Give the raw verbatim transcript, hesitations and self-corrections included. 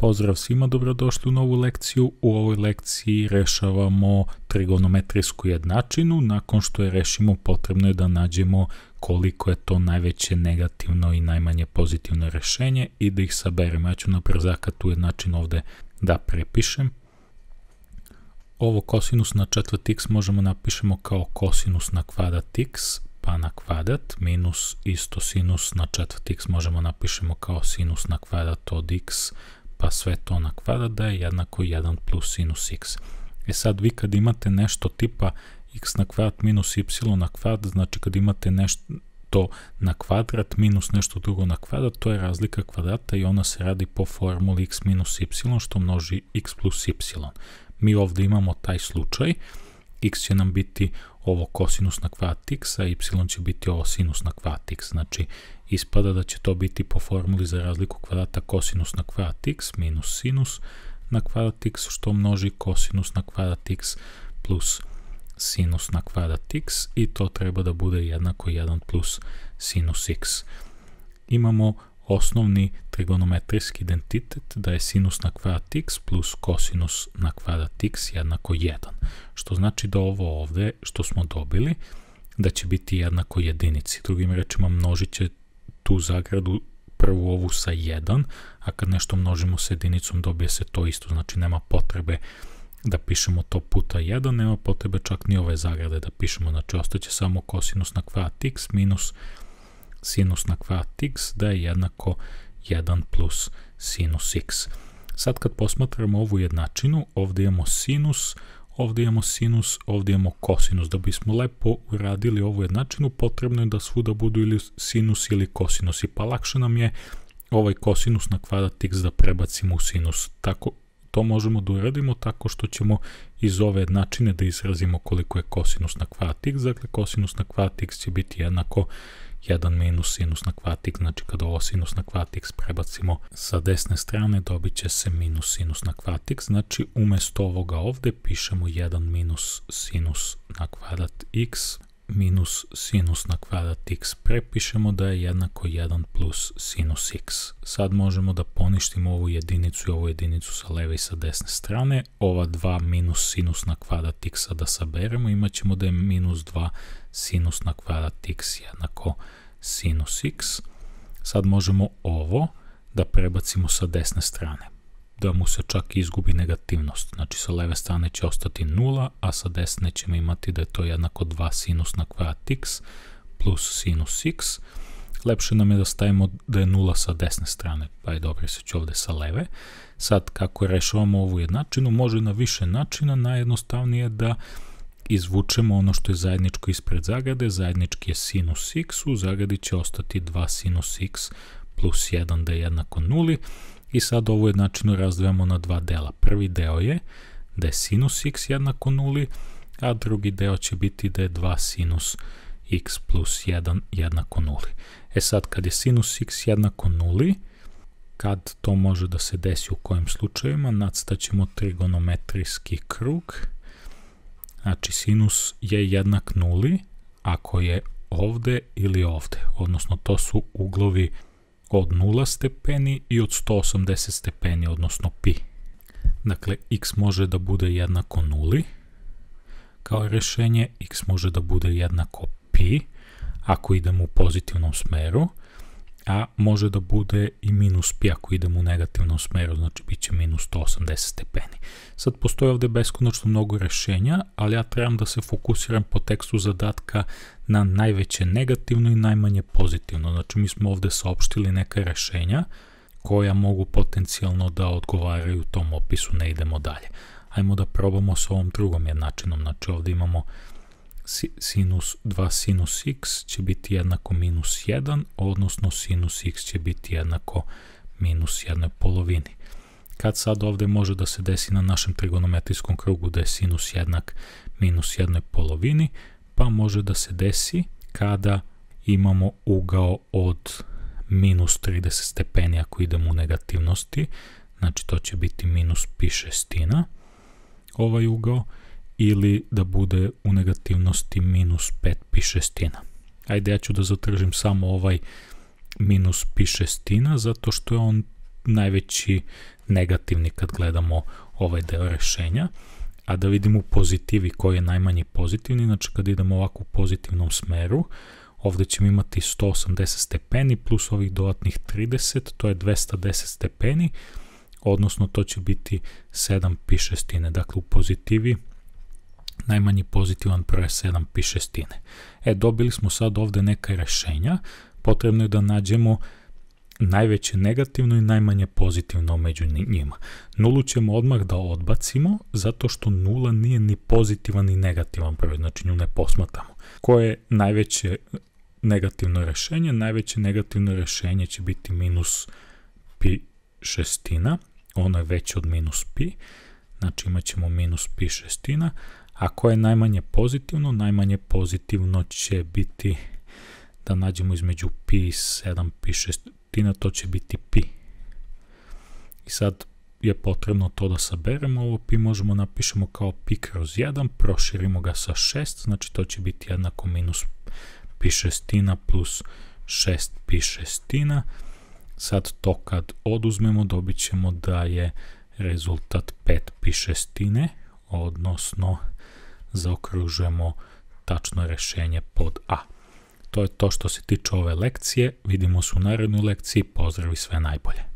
Pozdrav svima, dobrodošli u novu lekciju. U ovoj lekciji rešavamo trigonometrijsku jednačinu. Nakon što je rešimo, potrebno je da nađemo koliko je to najveće negativno i najmanje pozitivno rešenje i da ih saberemo. Ja ću na brzaka tu jednačinu ovde da prepišem. Ovo kosinus na četvrt x možemo napišemo kao kosinus na kvadrat x, pa na kvadrat, minus isto sinus na četvrt x možemo napišemo kao sinus na kvadrat od x, pa sve to na kvadrat da je jednako jedan plus sinus x. E sad vi kad imate nešto tipa x na kvadrat minus y na kvadrat, znači kad imate nešto na kvadrat minus nešto drugo na kvadrat, to je razlika kvadrata i ona se radi po formuli x minus y što množi x plus y. Mi ovde imamo taj slučaj, x će nam biti ovo kosinus na kvadrat x, a y će biti ovo sinus na kvadrat x. Znači, ispada da će to biti po formuli za razliku kvadrata kosinus na kvadrat x minus sinus na kvadrat x, što množi kosinus na kvadrat x plus sinus na kvadrat x i to treba da bude jednako jedan plus sinus x. Imamo osnovni trigonometrijski identitet da je sinus na kvadrat x plus kosinus na kvadrat x jednako jedan. Što znači da ovo ovde što smo dobili da će biti jednako jedinici. Drugim rečima množit će tu zagradu prvu ovu sa jedan, a kad nešto množimo sa jedinicom dobije se to isto. Znači nema potrebe da pišemo to puta jedan, nema potrebe čak ni ove zagrade da pišemo. Znači ostaće samo kosinus na kvadrat x minus sinus na kvadrat x da je jednako jedan plus sinus x. Sad kad posmatramo ovu jednačinu, ovdje imamo sinus, ovdje imamo sinus, ovdje imamo kosinus. Da bismo lepo uradili ovu jednačinu, potrebno je da svuda budu ili sinus ili kosinus. I pa lakše nam je ovaj kosinus na kvadrat x da prebacimo u sinus. Tako, to možemo da uradimo tako što ćemo iz ove jednačine da izrazimo koliko je kosinus na kvadrat x. Dakle, kosinus na kvadrat x će biti jednako jedan minus sinus na kvadrat x, znači kada ovo sinus na kvadrat x prebacimo sa desne strane dobit će se minus sinus na kvadrat x, znači umesto ovoga ovde pišemo jedan minus sinus na kvadrat x minus sinus na kvadrat x, prepišemo da je jednako jedan plus sinus x. Sad možemo da poništimo ovu jedinicu i ovu jedinicu sa leve i sa desne strane, ova dva minus sinus na kvadrat x da saberemo, imat ćemo da je minus dva sinus na kvadrat x jednako sinus x. Sad možemo ovo da prebacimo sa desne strane, da mu se čak izgubi negativnost. Znači sa leve strane će ostati nula, a sa desne ćemo imati da je to jednako dva sinus na kvadrat x plus sinus x. Lepše nam je da stavimo da je nula sa desne strane, pa je dobro se će ovde sa leve. Sad kako rešavamo ovu jednačinu, može na više načina, najjednostavnije je da izvučemo ono što je zajedničko ispred zagrade, zajednički je sinus x, u zagradi će ostati dva sinus x plus jedan da je jednako nuli i sad ovu jednačinu razdvajamo na dva dela. Prvi deo je da je sinus x jednako nuli, a drugi deo će biti da je dva sinus x plus jedan jednako nuli. E sad kad je sinus x jednako nuli, kad to može da se desi u kojim slučajima, nacrtaćemo trigonometrijski krug. Znači, sinus je jednak nuli ako je ovde ili ovde, odnosno to su uglovi od nula stepeni i od sto osamdeset stepeni, odnosno pi. Dakle, x može da bude jednako nuli kao rešenje, x može da bude jednako pi ako idemo u pozitivnom smeru, a može da bude i minus pi ako idemo u negativnom smeru, znači bit će minus sto osamdeset stepeni. Sad postoje ovde beskonačno mnogo rešenja, ali ja trebam da se fokusiram po tekstu zadatka na najveće negativno i najmanje pozitivno. Znači mi smo ovde saopštili neka rešenja koja mogu potencijalno da odgovaraju tom opisu, ne idemo dalje. Ajmo da probamo s ovom drugom jednačinom, znači ovde imamo sinus dva sinus x će biti jednako minus jedan, odnosno sinus x će biti jednako minus jednoj polovini. Kad sad ovde može da se desi na našem trigonometrijskom krugu da je sinus jednak minus jednoj polovini, pa može da se desi kada imamo ugao od minus trideset stepeni ako idemo u negativnosti, znači to će biti minus pi šestina ovaj ugao, ili da bude u negativnosti minus pet pi šestina. Ajde, ja ću da zatržim samo ovaj minus pi šestina, zato što je on najveći negativni kad gledamo ovaj deo rešenja, a da vidimo u pozitivi koji je najmanji pozitivni, znači kad idemo ovako u pozitivnom smeru, ovde ćemo imati sto osamdeset stepeni plus ovih dodatnih trideset, to je dvesta deset stepeni, odnosno to će biti sedam pi šestine. Dakle, u pozitivi najmanji pozitivan broj je sedam pi šestine. E, dobili smo sad ovde neka rešenja, potrebno je da nađemo najveće negativno i najmanje pozitivno među njima. Nulu ćemo odmah da odbacimo, zato što nula nije ni pozitivan ni negativan broj, znači nju ne posmatramo. Koje je najveće negativno rešenje? Najveće negativno rešenje će biti minus pi šestina, ono je veće od minus pi, znači imat ćemo minus pi šestina, a koje je najmanje pozitivno? Najmanje pozitivno će biti, da nađemo između pi i sedam pi šestina, to će biti pi. I sad je potrebno to da saberemo, ovo pi možemo napišemo kao pi kroz jedan, proširimo ga sa šest, znači to će biti jednako minus pi šestina plus šest pi šestina. Sad to kad oduzmemo dobit ćemo da je rezultat pet pi šestine, odnosno zaokružujemo tačno rešenje pod A. To je to što se tiče ove lekcije, vidimo se u narednoj lekciji, pozdrav i sve najbolje.